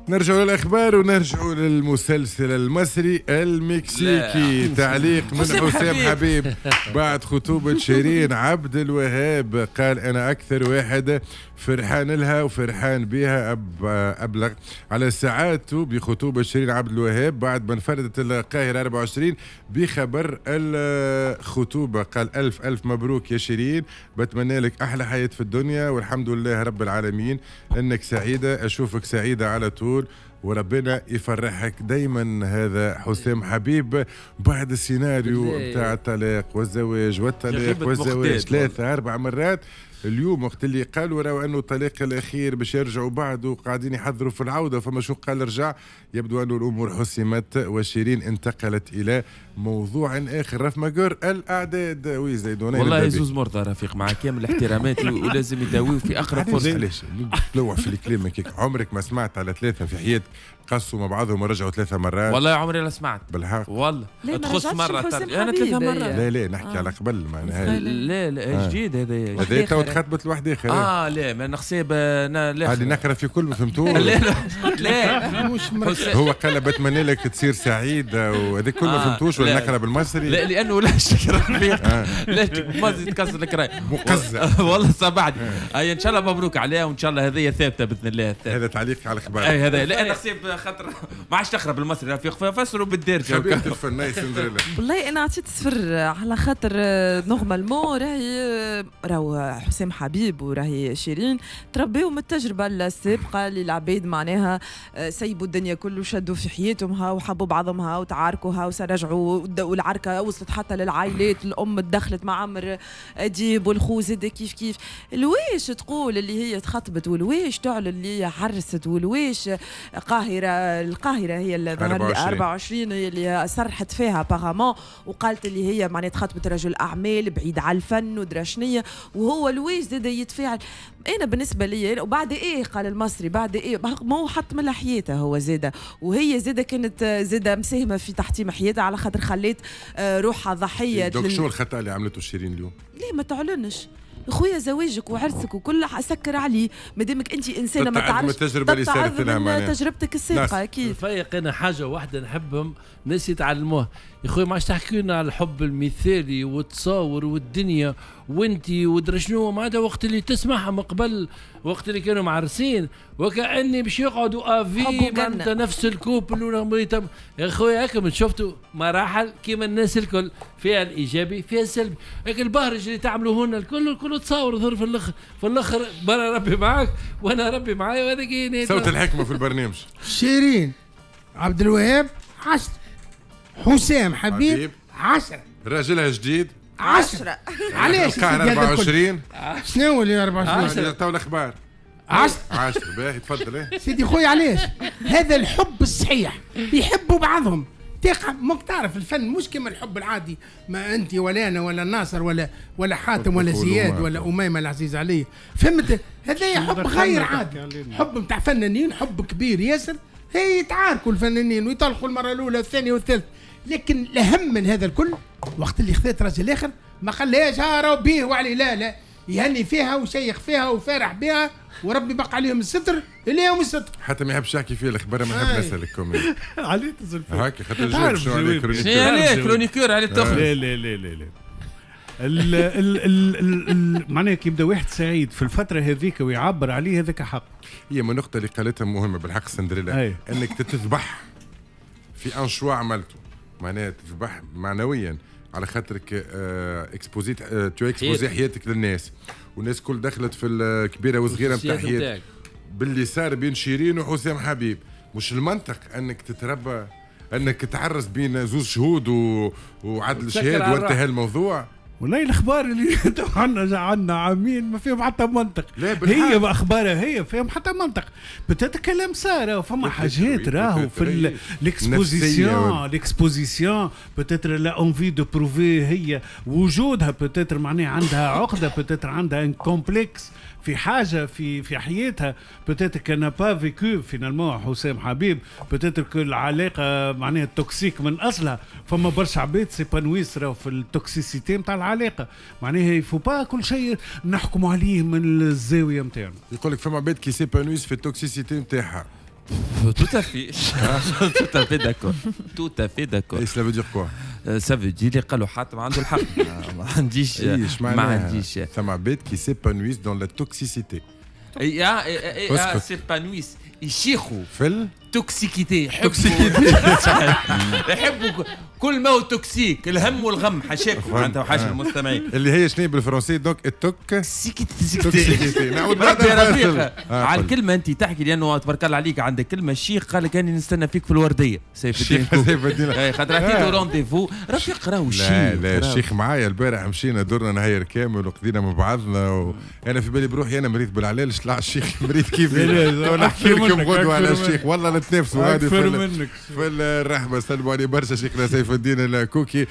نرجع للاخبار ونرجع للمسلسل المصري المكسيكي. تعليق من حسام حبيب بعد خطوبة شيرين عبد الوهاب، قال أنا أكثر واحد فرحان لها وفرحان بها. أبلغ على سعادته بخطوبة شيرين عبد الوهاب بعد ما انفردت القاهرة 24 بخبر الخطوبة. قال ألف ألف مبروك يا شيرين، بتمنى لك أحلى حياة في الدنيا والحمد لله رب العالمين أنك سعيدة، أشوفك سعيدة على طول وربنا يفرحك دايما. هذا حسام حبيب بعد السيناريو بتاع الطلاق والزواج والطلاق والزواج 3-4 مرات. اليوم وقت اللي قالوا راهو انه الطلاق الاخير باش يرجعوا بعد وقاعدين يحضروا في العودة، فما شو قال رجع، يبدو انه الامور حسمت وشيرين انتقلت الى موضوع اخر. رف ماجور الاعداد ويزيدون. والله يزوز مرضى رفيق مع كامل احتراماتي ولازم يداويو في اقرب فرصة. علاش تلوح في الكلام هكاك؟ عمرك ما سمعت على 3 في حياتك قصوا مع بعضهم ورجعوا 3 مرات؟ والله عمري لا سمعت بالحق. والله تخص مرة انا 3 مرات. لا لا نحكي على قبل معناها. لا لا جديد هذا هذا تو تخطبت لواحد اخر. لا ما نحسب لا هذه نقرا في كل ما فهمتوش. لا لا هو قال بتمنى لك تصير سعيد وهذا كل ما فهمتوش ولا نقرا بالمصري؟ لا لانه لا شكرا رفيق لا ما تكسر لك راي مقزع والله صبعد. اي ان شاء الله مبروك عليها وان شاء الله هذه ثابتة باذن الله. هذا تعليق على الاخبار. اي هذا لا نحسب خاطر ما عادش تقرا بالمصري رفيق فسروا بالدارجة. خبيرة الفن سندريلا. والله انا عطيت صفر على خاطر normalement راهي راهو حسام حبيب وراهي شيرين تربيو من التجربة السابقة اللي العباد معناها سيبوا الدنيا كله شدوا في حياتهم ها وحبوا بعضهم ها وتعاركوا ها وسرجعوا، والعركه وصلت حتى للعائلات، الام تدخلت مع عمر اديب والخو زاد كيف كيف. الواش تقول اللي هي تخطبت والواش تعلن اللي عرست والواش قاهرة، القاهرة هي اللي 24 هي اللي صرحت فيها apparemment وقالت اللي هي معناها تخطبت رجل اعمال بعيد على الفن ودرا شنية، وهو الواش زاد يتفاعل. انا بالنسبة لي وبعد ايه قال المصري بعد ايه ما هو حط من حياته هو زاده، وهي زاده كانت زاده مساهمة في تحطيم حياتها على خاطر خلات روحها ضحية. donc شو الخطا اللي عملته شيرين اليوم؟ ليه ما تعلنش؟ خويا زواجك وعرسك وكل سكر عليه مادامك انت انسانه ما تعرفش التجربة اللي صارت لها معناها تجربتك السابقة. اكيد فايق. انا حاجة واحدة نحبهم ناس يتعلموها يا خويا، ما عادش تحكي لنا على الحب المثالي والتصاور والدنيا وانت ودرا شنو، معناتها وقت اللي تسمعها من قبل وقت اللي كانوا معرسين وكاني باش يقعدوا à vie معناتها نفس ال couple. يا خويا هكا شفتوا مراحل كيما الناس الكل، فيها الايجابي فيها السلبي. هيك البهرج اللي تعملوه لنا الكل الكل تصاور ظهر في الاخر، في الاخر برا ربي معاك وانا ربي معايا وهذاك صوت الحكمة في البرنامج. شيرين عبد الوهاب 10، حسام حبيب 10، راجلها جديد 10. علاش القاهرة 24؟ شنو اللي 24؟ تو الاخبار 10. باهي تفضل. سيدي خويا علاش؟ هذا الحب الصحيح، يحبوا بعضهم. تقع ماك تعرف الفن مش كما الحب العادي، ما انت ولا انا ولا ناصر ولا حاتم ولا زياد ولا اميمة العزيز علي، فهمت؟ هذا حب غير عادي، حب نتاع فنانين، حب كبير ياسر. هي يتعاركوا الفنانين ويطلقوا المرة الاولى والثانية والثالثة، لكن الاهم من هذا الكل وقت اللي خذت راجل اخر ما خلاش ها بيه وعليه، لا لا يهني فيها وشيخ فيها وفارح بها وربي بقى عليهم الستر الى يوم الستر. حتى ما يحبش يحكي فيه الاخبار، ما نحب نسالك كومي عليه تزل هاكا خاطر جاوب شنو عليه chroniqueur. عليه chroniqueur عليه تخرج. لا لا لا لا لا ال ال ال معناها كي يبدا واحد سعيد في الفترة هذيك ويعبر عليه هذاك حق. هي من النقطة اللي قالتها مهمة بالحق سندريلا، انك تتذبح في un choix عملته، معناها تذبح معنويا على خاطرك exposé tu exposes حياتك للناس، والناس كل دخلت في الكبيرة والصغيرة نتاع حياتك باللي صار بين شيرين وحسام حبيب. مش المنطق انك تتربى انك تعرس بين زوج شهود وعدل شهاد وانتهى الموضوع. والله الاخبار اللي عندنا عامين ما فيهم حتى منطق. هي باخبارها هي فيهم حتى منطق. peut-être كلام صار فما حاجات راهو في l'exposition، l'exposition peut-être l'envie de prouver هي وجودها، peut-être معناها عندها عقده، peut-être عندها un complexe في حاجة في حياتها، peut-être qu'elle n'a pas vécu finalement حسام حبيب، peut-être que العلاقة معناها toxique من اصلها. فما برشا عباد s'épanouissent راهو في ال toxicité نتاع العلاقة، معناها il faut pas كل شيء نحكموا عليه من الزاوية نتاعنا. يقول لك فما عباد qui s'épanouissent في ال toxicité نتاعها. Tout à fait. Tout à fait d'accord. Tout à fait d'accord. Et cela veut dire quoi؟ Ça veut dire اللي قالوا حاتم عنده الحق. ما عنديش. ما عنديش. ثم عباد qui s'épanouissent dans la toxicité. يا s'épanouissent يشيخوا في ال toxicité. toxicité. يحبوا كل ما هو toxique، الهم والغم، حاشاكم معناتها وحاشا المستمعين. اللي هي شنو بالفرنسي؟ donc ال tox toxicité. نعود بعد الفاصل. على الكلمة انت تحكي، لانه تبارك الله عليك عندك كلمه. الشيخ قال لك اني نستنى فيك في الورديه. سيف الدين، سيف الدين. خاطر عطيته rendez-vous رفيق، راهو الشيخ. لا لا، الشيخ معايا البارح، مشينا درنا نهار كامل وقضينا مع بعضنا، وانا في بالي بروحي انا مريض بالعلالش، طلع الشيخ مريض كيفي. نحكي لكم غدوه على الشيخ، والله نتنافسوا غادي في الرحمه. سلموا علي برشا شيخنا سيف الدين الكوكي.